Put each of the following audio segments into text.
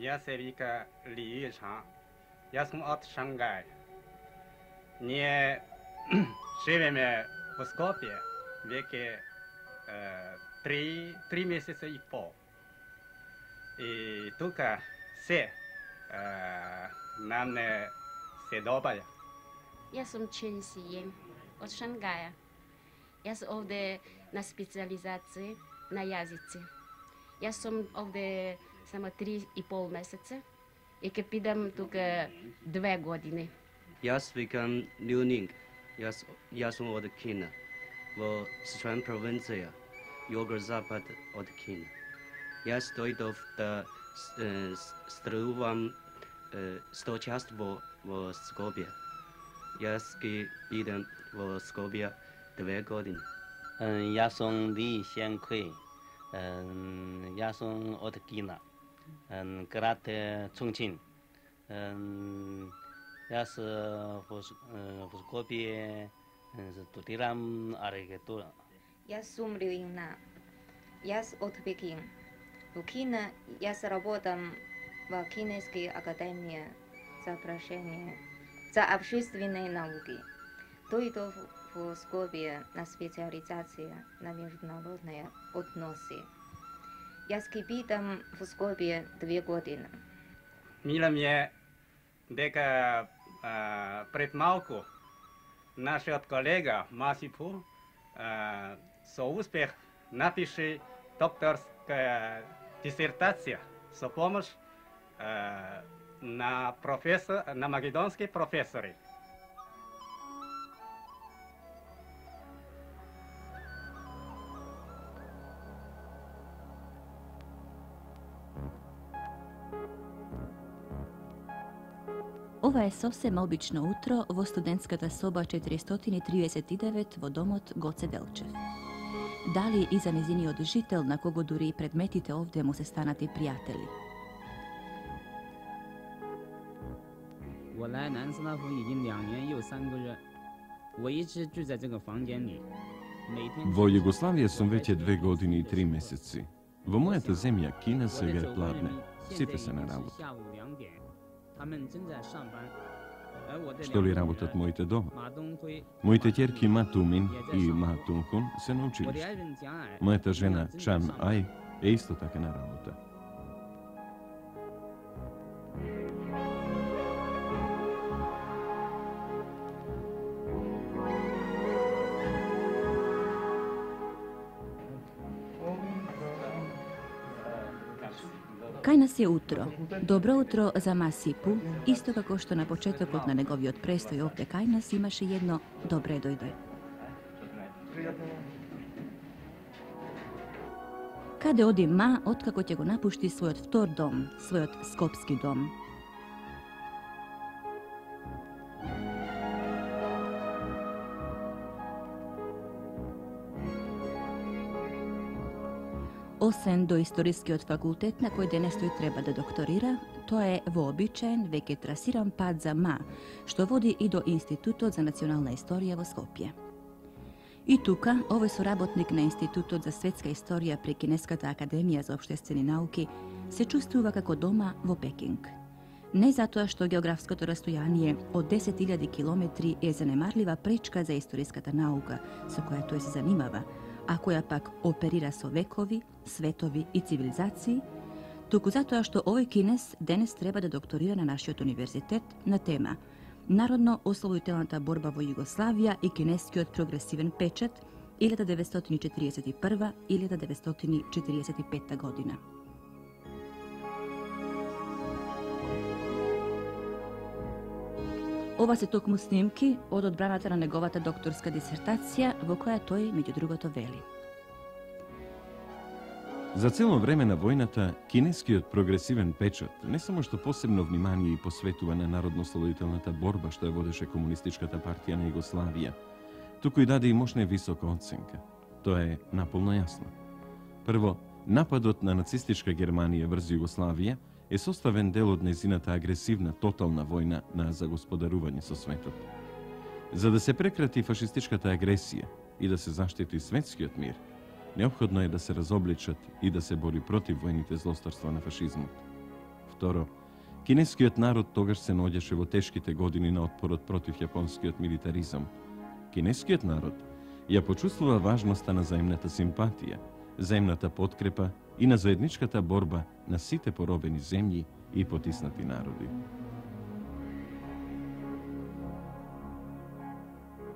Јас се вика Ли Ючан. Јас сум од Шангај. Ние живееме во Скопје веќе 3 месеца и пол. И тука се нам не се добаја. Јас сум Чен Сиен од Шангаја. Јас овде на специализација на јазици. Јас сум овде само 3,5 месеца и ке пидам тука 2 години. Јас викам Лю Нинг. Јас сум од Кина, во Сичуан провинција, југозапад од Кина. Јас дојдов да стварувам сточарство во Скопје. Јас ги бидам во Скопје 2 години. Јас сум Ли Сен Куј. Јас сум од Кина, град Чунчин. Јас во Скопје студирам архитектура. Јас сум Лю Инна. Јас од Пекин. Во Кина јас работам во Кинеской академии за прошение за общественные науки. Дојдов во Скопје на специализација на меѓународни односи. Јас ке бидам во Скопје 2 години. Мила ми е дека пред малку нашиот колега Масипу со успех напише докторска дисертација со помош на македонски професори. Ова е совсем обично утро во студентската соба 439 во домот Гоце Делчев. Дали и за незиниот жител, на кого дури и предметите овде му се станати пријатели. Во Југославија сум веќе 2 години и 3 месеци. Во мојата земја Кина сега е пладне. Сите се на работа. Што ли работат моите дома? Моите ќерки Ма Тумин и Ма Тунхун се на училиште. Мојата жена Чан Ај е исто така на работа. Кај нас е утро. Добро утро за Масипу, исто како што на почетокот на неговиот престој овде кај нас имаше едно добре дојде. Каде оди Ма откако ќе го напушти својот втор дом, својот скопски дом? Освен до историскиот факултет на кој денес тој треба да докторира, тоа е вообичаен, веќе трасиран пат за Ма, што води и до Институтот за национална историја во Скопје. И тука, овој соработник на Институтот за светска историја при Кинеската академија за општествени науки се чувствува како дома во Пекинг. Не затоа што географското растојание од 10.000 километри е занемарлива пречка за историската наука со која тој се занимава, а која пак оперира со векови, светови и цивилизации, туку затоа што овој кинес денес треба да докторира на нашиот универзитет на тема Народно-ослободителната борба во Југославија и кинескиот прогресивен печат 1941-1945 година. Ова се токму снимки од одбраната на неговата докторска дисертација, во која тој, меѓу другото, вели. За цело време на војната, кинескиот прогресивен печат не само што посебно внимание и посветува на народно-ослободителната борба што ја водеше Комунистичката партија на Југославија, туку и даде и мощна висока оценка. Тоа е наполно јасно. Прво, нападот на нацистичка Германија врз Југославија е составен дел од нејзината агресивна тотална војна на загосподарување со светот. За да се прекрати фашистичката агресија и да се заштити светскиот мир, неопходно е да се разобличат и да се бори против војните злостарства на фашизмот. Второ, кинескиот народ тогаш се наоѓаше во тешките години на отпорот против јапонскиот милитаризам. Кинескиот народ ја почувствува важноста на заемната симпатија, заемната подкрепа и на заедничката борба на сите поробени земји и потиснати народи.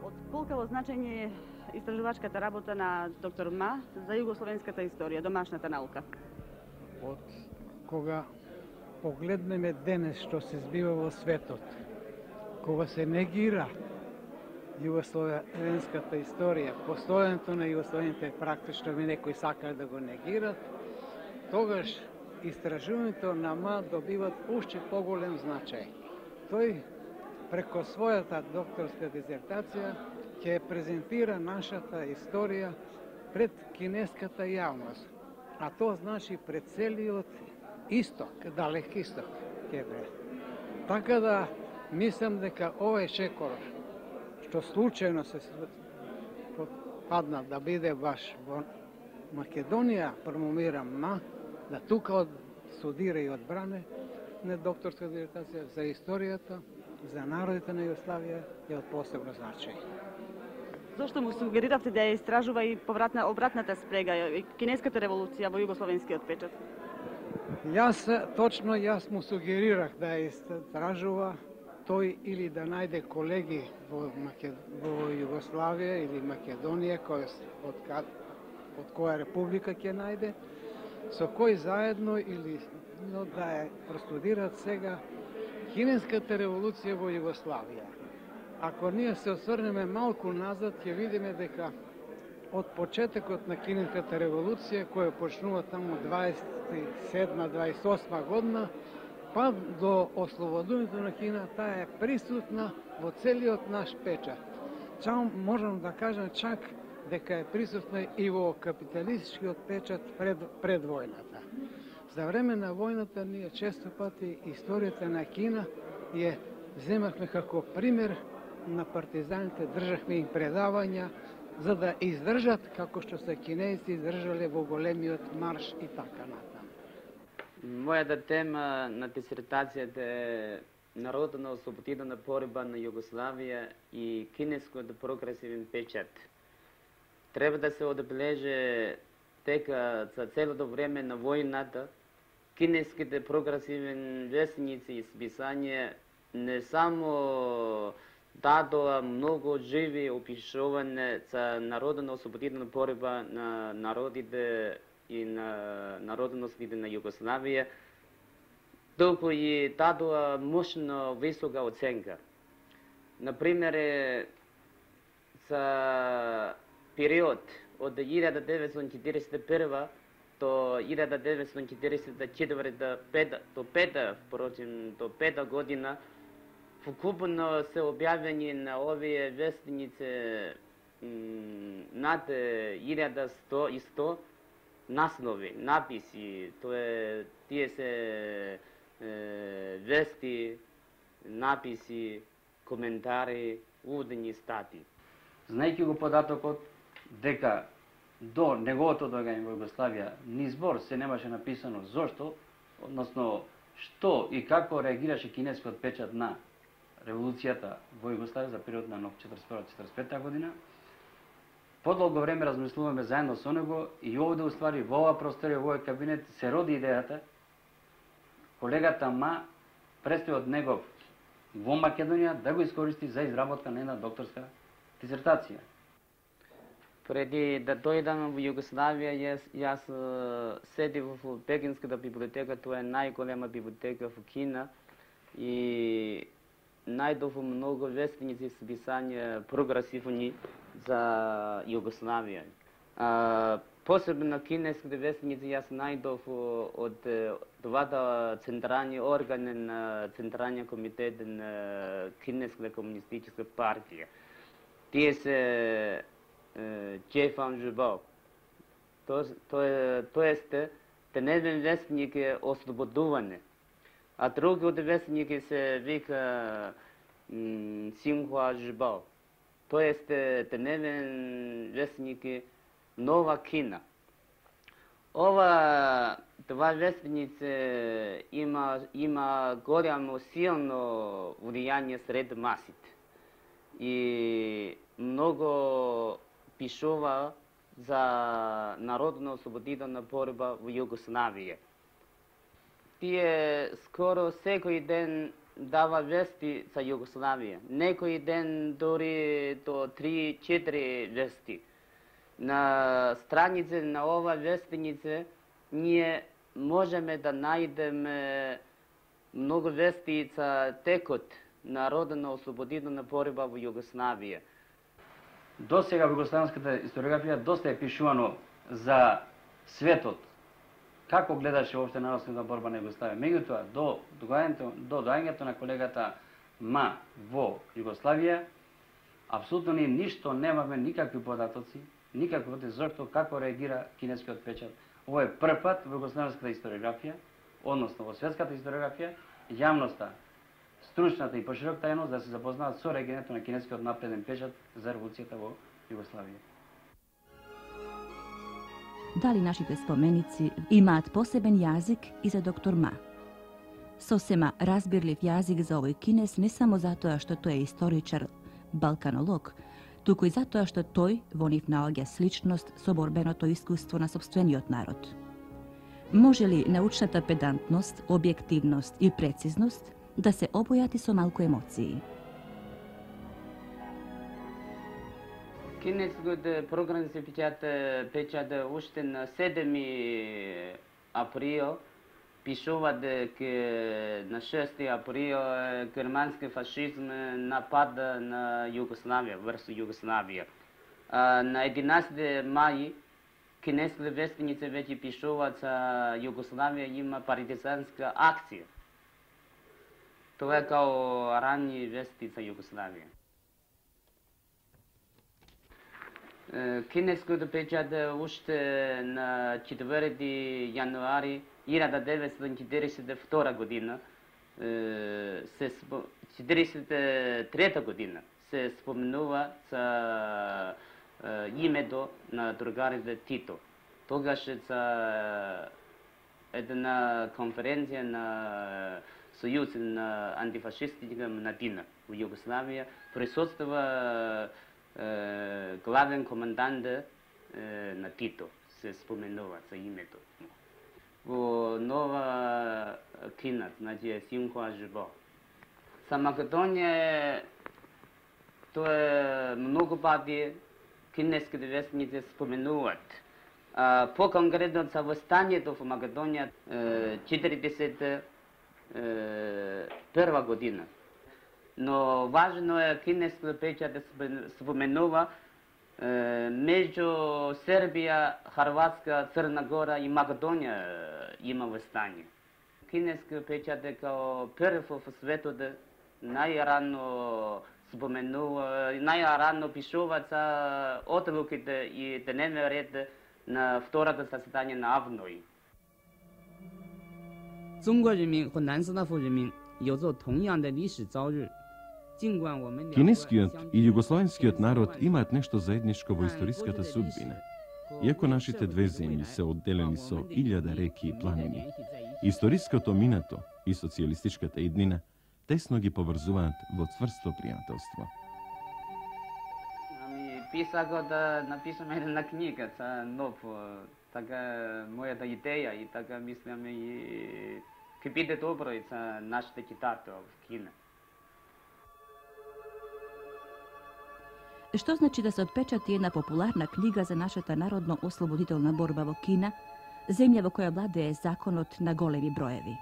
Од колкаво значење е истражувачката работа на доктор Ма за југословенската историја, домашната наука? Од кога погледнеме денес што се збива во светот, кога се негира југословенската историја, постојањето на југословените практично некои сакаат да го негират, тогаш истражувањето на Ма добиват уште поголем значај. Тој преко својата докторска дизертација ќе презентира нашата историја пред кинеската јавност, а тоа значи пред целиот исток, далек исток ќе бе. Така да мислам дека овој шекор што случајно се падна да биде баш во Македонија промомира Ма, да тука студира и одбране на докторска дизертација за историјата, за народите на Југославија е од посебно значај. Зошто му сугериравте да ја истражува и обратната спрега, кинеската револуција во југословенскиот печат? Јас му сугерирах да ја истражува тој или да најде колеги во Југославија или Македонија, од која република ќе најде, со кој заедно или да ја простудираат сега кинеската револуција во Југославија. Ако ние се осврнеме малку назад, ќе видиме дека од почетокот на кинеската револуција, која почнува таму 27-28 година, па до ослободувањето на Кина, таа е присутна во целиот наш печат. Можам да кажам чак дека е присутна и во капиталистичкиот печат пред војната. За време на војната ние често пати историјата на Кина ја земавме како пример на партизаните, државме им предавања за да издржат како што се кинејци издржале во големиот марш и така натаму. Мојата тема на дисертацијата е народно-ослободителна борба на Југославија и кинескиот прогресивен печат. Треба да се одбележи дека за целото време на војната кинеските прогресивни весници и списања не само дадоа многу живи опишување за народно-ослободителна борба на народите и на народностите на Југославија, толку и дадоа мощно висока оценка. Например, за период од 1941 до 1944 до 5 година, вкупно се објавени на овие вестници над 1100 наснови, написи, тие се вести, написи, коментари, уводни стати. Знајќи го податокот дека до неговото доагање во Југославија ни збор се немаше написано зошто, односно што и како реагираше кинескиот печат на револуцијата во Југославија за период на 1941-1945 година, подолго време размислуваме заедно со него и овде уствари во оваа просторија, во овој кабинет се роди идејата колегата Ма престои од негов во Македонија да го искористи за изработка на една докторска дисертација. Преди да дојдам во Југославија, јас седив во Пекинската библиотека, тоа е најголема библиотека во Кина, и најдов многу вестници и списања прогресивни за Југославија. Посебно кинеските вестници јас најдов од двата централни органи на Централниот комитет на Кинеската комунистичка партија. Тие се Џефан Жубов. Тоест, деневен вестник е ослободување, а другиот вестник се вика Синхуа Жубов. Тоест, деневен вестник е Нова Кина. Това вестнице има голямо силно влияние сред масите. И много пишува за народно-освободителна борба в Югославија. Тие скоро секој ден дава вести за Югославија. Некој ден дори до 3-4 вести. На странице на ова вестнице ние можеме да најдеме многу вести за текот народно-освободителна борба во Југославија. До сега во југославенската историографија доста е пишувано за светот, како гледаше воопште народната борба на Југославија. Меѓутоа, до доаѓањето на колегата Ма во Југославија, апсолутно ние ништо немаме, никакви податоци, никакви зашто како реагира кинескиот печат. Ово е прв пат во југославенската историографија, односно во светската историографија, јавноста, стручната и пошироката јавност да се запознаат со реагирањето на кинескиот напреден печат за револуцијата во Југославија. Дали нашите споменици имаат посебен јазик и за доктор Ма? Сосема разбирлив јазик за овој кинес не само затоа што тој е историчар, балканолог, туку и затоа што тој во нив наоѓа сличност со борбеното искуство на сопствениот народ. Може ли научната педантност, објективност и прецизност да се обојати со малку емоции? Кинескиот програм се печата уште на 7 април. Пишува дека на 6 април германски фашизм напада на Југославија, врз Југославија. На 11 мај кинеските вестници веќе пишуваат за Југославија има партизанска акција. Това е као ранни вести за Југославија. Кинескиот печат уште на 4 јануари 1942 година, 43 година се споменува за името на другарите Тито. Тогаш за една конференција на Сојуз на антифашистичка младина во Југославија присуствува главен командант на Тито, се споменува за името. Во нова кина, значи Синхуа Жибо. За Македонија тоа е многу пати кинеските вестници споменуваат. По-конкретно за восстанието во Македонија 1941 година. Но важно е кинеското печат да споменува меѓу Сербија, Хрватска, Црна Гора и Македонија има восстание. Кинескиот печат е као прв во светот најрано споменува, најрано пишува за одлуките и дневен ред на второто заседание на АВНОИ. 中国人民和南斯拉夫人民有着同样的历史朝日。 Кинескиот и југословенскиот народ имаат нешто заедничко во историската судбина. Иако нашите две земји се одделени со 1000 реки и планини, историското минато и социјалистичката иднина тесно ги поврзуваат во цврсто пријателство. Писах да напишам една книга за нов, така мојата идеја и така мислам и ќе биде добро и за нашите читатели в Кина. Што значи да се отпечати една популарна книга за нашата народно-ослободителна борба во Кина, земја во која владее законот на големи броеви?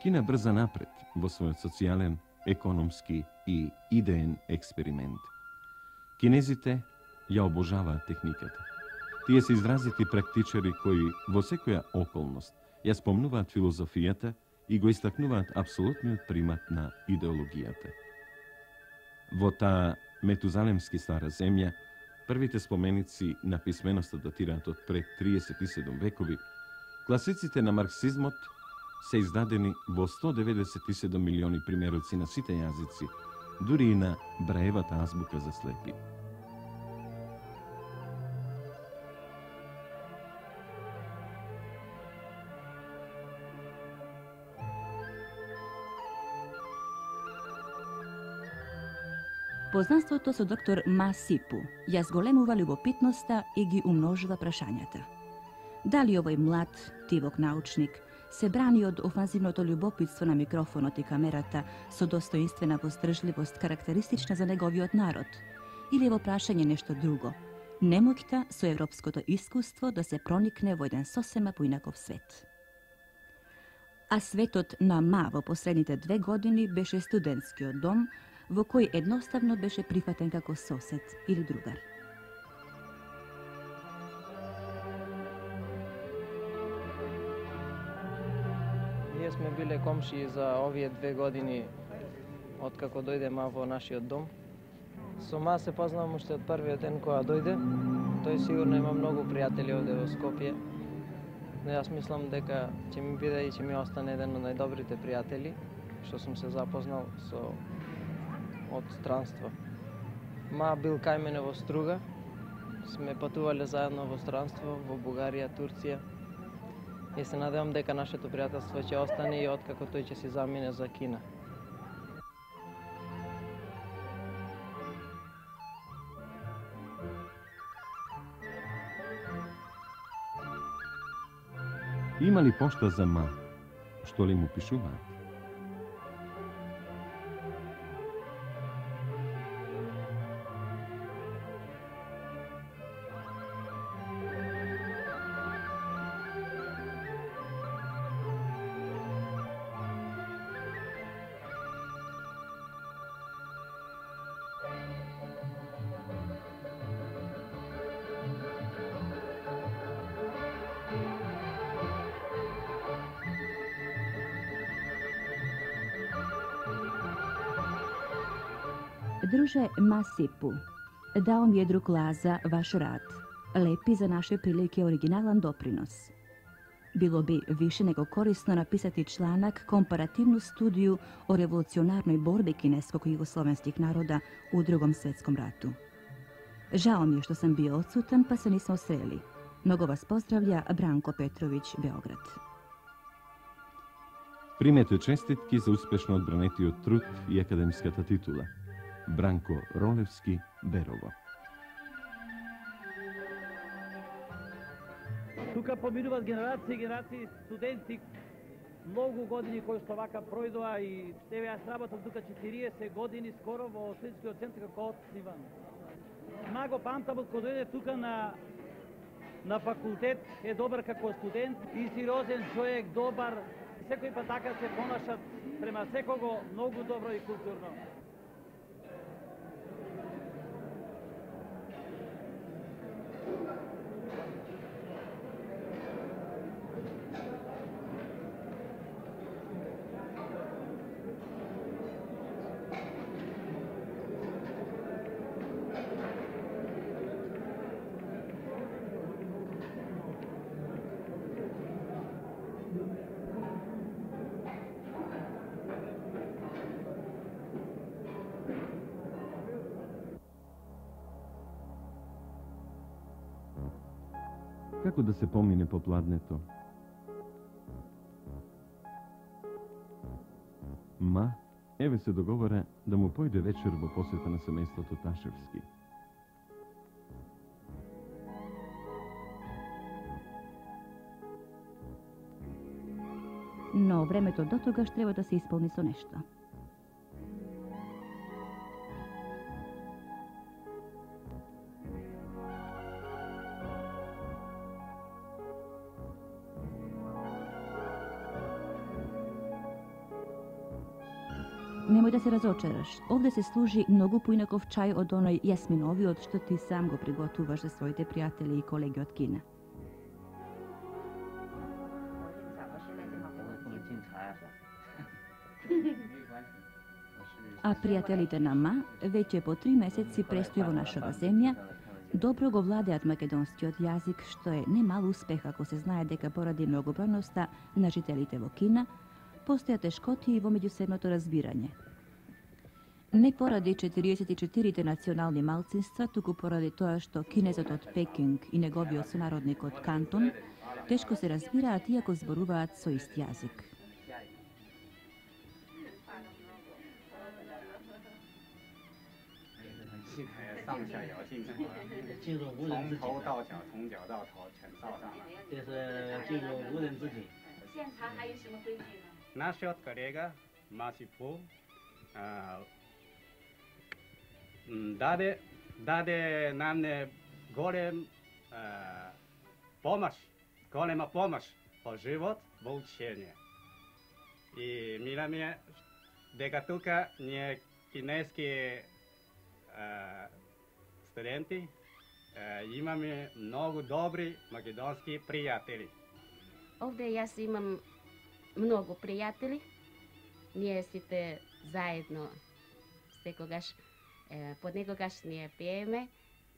Кина брза напред во својот социјален, економски и идеен експеримент. Кинезите ја обожаваат техниката. Тие се изразити практичари кои во секоја околност ја спомнуваат филозофијата и го истакнуваат апсолутниот примат на идеологијата. Во таа метузалемски стара земја, првите споменици на писменоста датираат од пред 37 векови, класиците на марксизмот се издадени во 197 милиони примероци на сите јазици, дури и на Браевата азбука за слепи. Познанството со доктор Ма Сипу ја зголемува љубопитноста и ги умножува прашањата. Дали овој млад, тивок научник се брани од офанзивното љубопитство на микрофонот и камерата со достоинствена воздржливост карактеристична за неговиот народ, или во прашање нешто друго, немоќта со европското искуство да се проникне во еден сосема поинаков свет. А светот на Ма во последните 2 години беше студентскиот дом, во кој едноставно беше прифатен како сосед или другар. Ние сме биле комши за овие 2 години откако дојде Ма во нашиот дом. Со Ма се познавам уште од првиот ден кога дојде. Тој сигурно има многу пријатели овде во Скопје. Но јас мислам дека ќе ми биде и ќе ми остане еден од најдобрите пријатели што сум се запознал со од странство. Ма бил кај мене во Струга. Сме патувале заедно во странство во Бугарија, Турција. И се надевам дека нашето пријателство ќе остане и откако тој ќе си замине за Кина. Има ли пошта за Ма? Што ли му пишуваат? Друже Ма Сипу, дао ми е друг Лаза ваш рад. Лепи за наше прилike оригинален допринос. Било би више него корисно написати чланак компаративну студiju o revolucionarnoj borbi kineskog i jugoslovenskih naroda u Drugom svetskom ratu. Žao mi je što sam bio odsutan pa se nismo sreli. Mnogo vas pozdravlja Branko Petrović, Beograd. Примете честитки за успешно одбранетиот труд и академската титула. Бранко Ролевски, Берово. Тука поминуваат генерации и генерации студенти, многу години кои што вака пројдоа и еве јас работам тука 40 години скоро во Следскиот центар како отсниман. Ма го памтам од кога дојде тука на факултет, е добар како студент и сериозен човек, добар. Секој пат така се понашат према секого многу добро и културно. Како да се помине по пладнето? Ма, еве се договора да му појде вечер во посета на семејството Ташевски. Но времето до тогаш треба да се исполни со нешто. Немој да се разочараш. Овде се служи многу поинаков чај од оној јасминовиот што ти сам го приготуваш за своите пријатели и колеги од Кина. А пријателите на Ма веќе по 3 месеци престои во нашава земја, добро го владеат македонскиот јазик, што е немал успех ако се знае дека поради многобројноста на жителите во Кина, постојат тешкоти и во меѓусебното разбирање. Не поради 44 национални малцинства, туку поради тоа што кинезот од Пекинг и неговиот сонародник од Кантон тешко се разбираат иако зборуваат со ист јазик. 上下摇进城了，进入无人之境从头到脚，从脚到头全照上了。这是进入无人之境。现场还有什么规矩呢？ Насчет коллега Масипу даде нам голема помощ по живот во учение. И миламе дека тука ние кинески студенти имаме многу добри македонски пријатели. Овде јас имам многу пријатели. Ние сите заедно секогаш понекогаш ние пееме,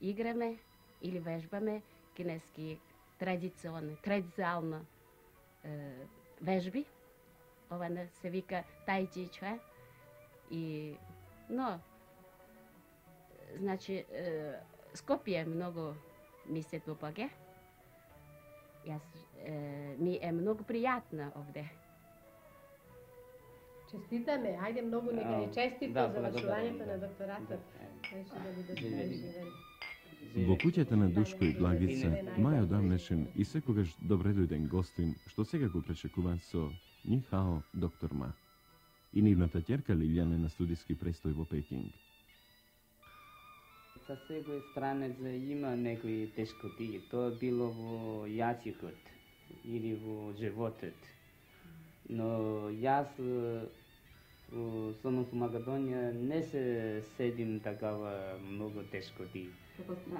играме или вежбаме кинески традиционно вежби. Ова се вика тајчи чуе. И но значи Скопје многу ми се допаѓа. Јас ми е многу пријатно овде. Честитаме, ајде многу нека е честито завршувањето на докторатот. Во куќата на Душко и Благица, Маја одамнешен и секогаш добредојден гостин, што сега го пречекуваат со Нихао, доктор Ма. И нивната ќерка Лилјана на студиски престој во Пекинг. За секој странец има некои тешкоти. Тоа било во јазикот или во животот. Но јас сум во Македонија не се седим такава многу тешкоти.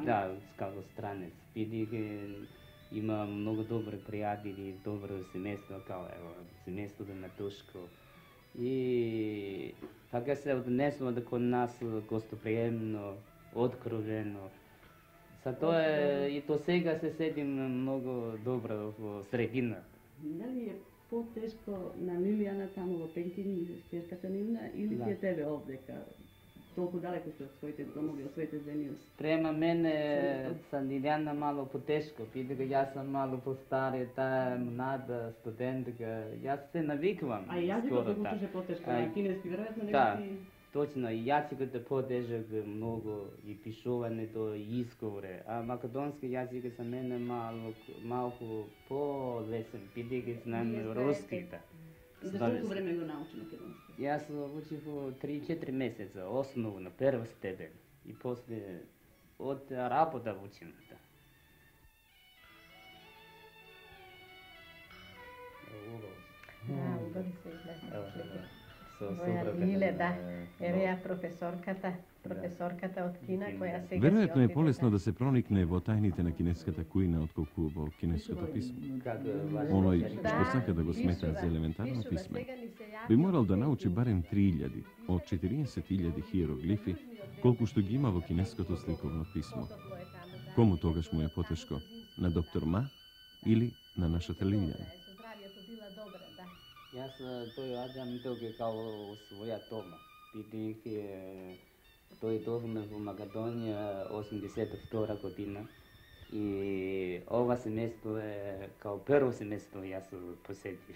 Да, како странец. Бидејќи има многу добри пријатели, добро семејство, како ево, семејството на Душко. И така се однесува кон нас гостоприемно, откровено. Затоа и до сега се седим многу добро во средина. Дали е потешко на Лилијана таму во Пекин, ќерката нивна, или ти е тебе овдека? Толку далеко сте од своите домови, од своите земји? Према мене са Лилијана мало потешко, бидејќи јас сум мало постари, таа млада студентка, јас се навикувам. А јазикот го учеше потешко, на кинески веројатно не си... Точно, и јазикот е потежок многу, и пишувањето, и изговори, а македонски јазик за мене малку по-лесен, бидејќи знам руски. За колку време го научи македонски? Јас учив 3-4 месеца, основно, прва степен, и после од работа учим. Убави се изгледа. Лиле, да. Еве ја професорката од Кина, која сега Веројатно е полесно да се проникне во тајните на кинеската кујна отколку во кинеското писмо. Оној што сака да го смета за елементарно писмен, би морал да научи барем 3000 од 40.000 хиероглифи, колку што ги има во кинеското сликовно писмо. Кому тогаш му е потешко? На доктор Ма или на нашата Лилјана? Јас доаѓам тука као своја дома, бидејќи дојдовме во Македонија 82 година и ова семејство е као прво семејство јас посетив.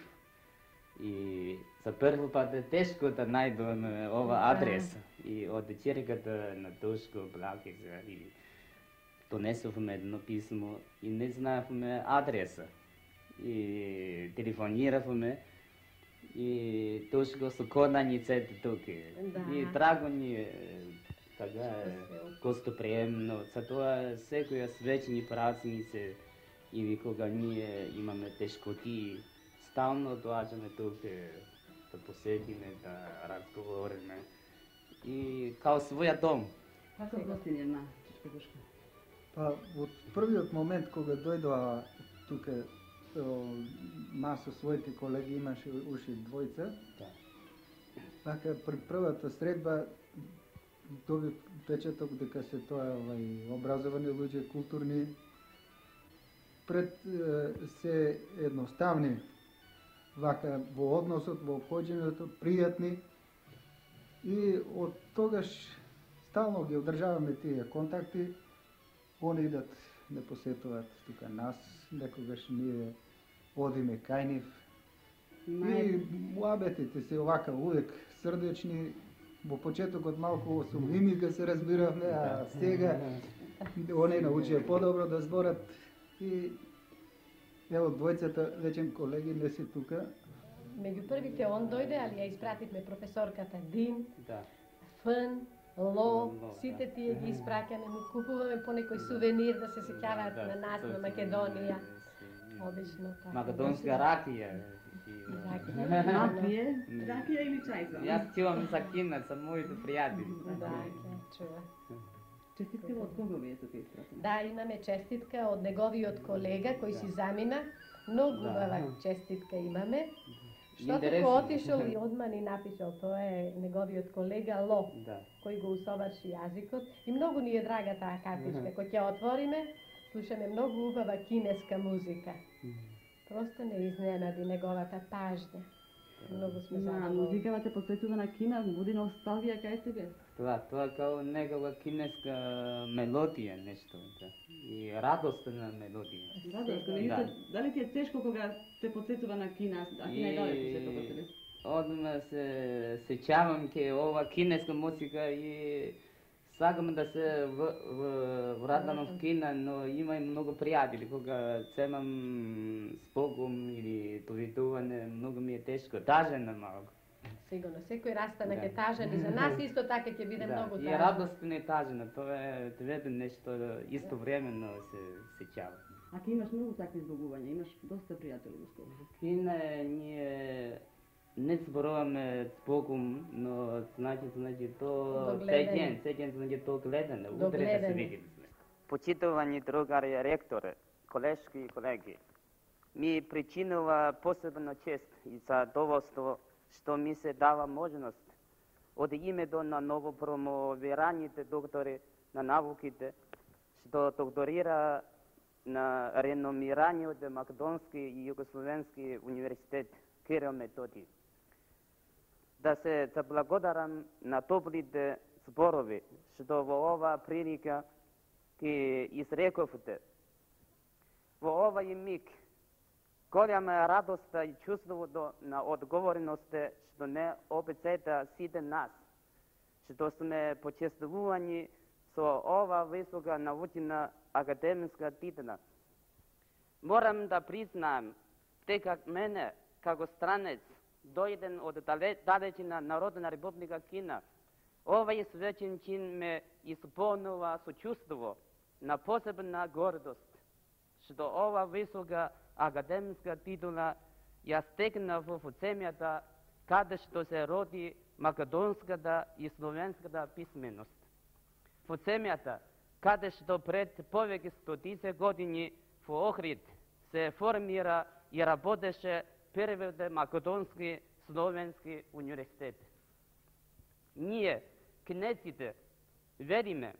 И за први пат е тешко да најдам ова адрес и од ќерката на Душко Благица и донесовме едно писмо и не знаевме адреса и телефониравме. И Душко со конаниците тука. И драго ни е, така гостоприемно. Затоа секоја свечени празници или кога ние имаме тешкоти, стално доаѓаме тука да посетиме, да разговориме. И као своја дом. Како гостин е на Душко? Па, од првиот момент кога дојдоа тука Ма со своите колеги имаше уши двојца. Така при првата средба доби печаток дека се тоа образовани луѓе, културни, пред се едноставни вака во односот, во обходењето, пријатни и од тогаш стално ги одржаваме тие контакти. Они идат да посетуваат тука нас, некогаш ние одиме кај нив. И муабетите се овака увек срдечни во почетокот малку сумними кога се разбиравме, а сега оние научија подобро да зборат и ево двојцата вече колеги не се тука. Меѓу првите он дојде, али ја испративме професорката Дин, Да. Фн, Ло, сите тие ги испраќаме, му купуваме по некој сувенир да се сеќаваат на нас, на Македонија. Обично така. Македонска ракија. Ракија или чај? Јас чувам за кина, со моите пријатели. Да, ќе чува. Честитка од кого ви е тука испратена? Да, имаме честитка од неговиот колега кој си замина. Многу убава честитка имаме. Што тука отишол и одма ни напишал, тоа е неговиот колега Ло, кој го усоврши јазикот. И многу ни е драга таа картичка. Кој ќе отвориме, слушаме многу убава кинеска музика. Просто не изненади неговата пажња. Многу сме задоволни. Музикава те потсетува на Кина, буди носталгија кај тебе? Тоа као негова кинеска мелодија нешто, да. И радостна мелодија. Радостна, дали ти е тешко кога те потсетува на Кина, а Кина е далеко сето од тебе? Одма се сеќавам ке ова кинеска музика и сакам да се вратам в Кина, но има и многу пријатели кога земам спогум или повидување, многу ми е тешко, тажен на малку. Сигурно, секој растана ќе тажен и за нас исто така ќе биде многу тажен. И радостно и тажено, тоа е двете нешто истовремено се сеќава. А ти имаш многу такви збогувања, имаш доста пријатели во Скопје. Кина ние не зборуваме збогум, но значи то сеќен значи то гледане, утре да се видиме. Почитувани другари ректори, колешки и колеги, ми причинува посебна чест и задоволство што ми се дава можност од името на новопромовираните доктори на науките, што докторира на реномираниот Македонски и Југословенски универзитет Кирил Методи. Да се заблагодарам на топлите зборови што во оваа прилика ги изрековте. Во овај миг голема радоста и чувството на одговорност што не обецета сите нас, што сме почестувани со ова висока научна академска титла. Морам да признаам дека мене, како странец, дојден од далечина Народна република Кина, овај свечен чин ме исполнува со чувство на посебна гордост, што ова висока академска титула ја стекнав во земјата каде што се роди македонската и словенската писменост. Во земјата каде што пред повеќе стотици години во Охрид се формира и работеше првиот македонски словенски универзитет. Ние, кинеците, вериме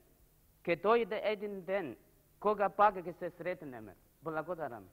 ке дојде еден ден кога пак ќе се сретнеме. Благодарам.